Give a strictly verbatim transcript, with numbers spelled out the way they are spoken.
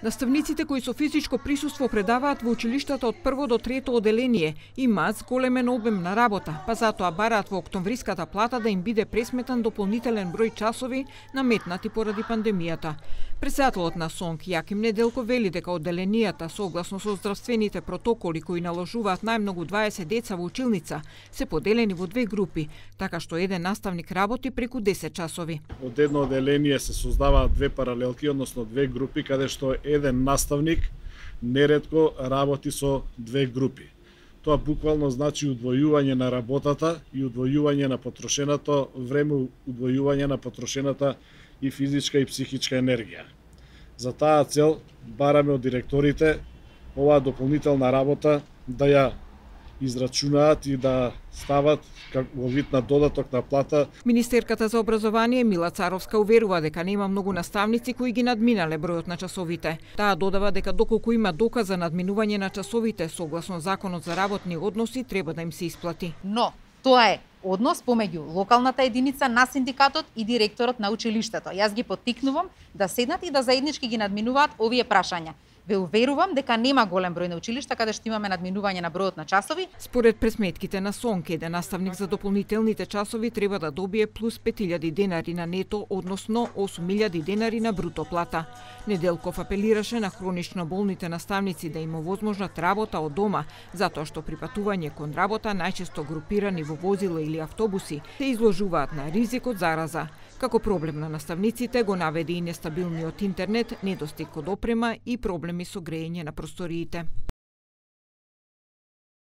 Наставниците кои со физичко присуство предаваат во училиштата од прво до трето оделение имаат зголемен обем на работа, па затоа бараат во октомвриската плата да им биде пресметан дополнителен број часови наметнати поради пандемијата. Председателот на СОНК Јаким Неделков вели дека оделенијата согласно со здравствените протоколи кои наложуваат најмногу дваесет деца во училница се поделени во две групи, така што еден наставник работи преку десет часови. Од едно оделение се создаваат две паралелки, односно две групи каде што еден наставник неретко работи со две групи. Тоа буквално значи удвојување на работата и удвојување на потрошеното време, удвојување на потрошената и физичка и психичка енергија. За таа цел бараме од директорите оваа дополнителна работа да ја израчунаат и да стават во вид на додаток на плата. Министерката за образование Мила Царовска уверува дека нема многу наставници кои ги надминале бројот на часовите. Таа додава дека доколку има доказ за надминување на часовите согласно Законот за работни односи треба да им се исплати. Но тоа е однос помеѓу локалната единица на синдикатот и директорот на училиштето. Јас ги поттикнувам да седнат и да заеднички ги надминуваат овие прашања. Ве уверувам дека нема голем број на училишта каде што имаме надминување на бројот на часови. Според пресметките на СОНК, еден наставник за дополнителните часови треба да добие плюс пет илјади денари на нето, односно осум илјади денари на бруто плата. Неделков апелираше на хронично болните наставници да им овозможат работа од дома, затоа што при патување кон работа најчесто групирани во возила или автобуси се изложуваат на ризик од зараза. Како проблем на наставниците го наведе и нестабилниот интернет, недостиг од опрема и проблеми со грејење на просториите.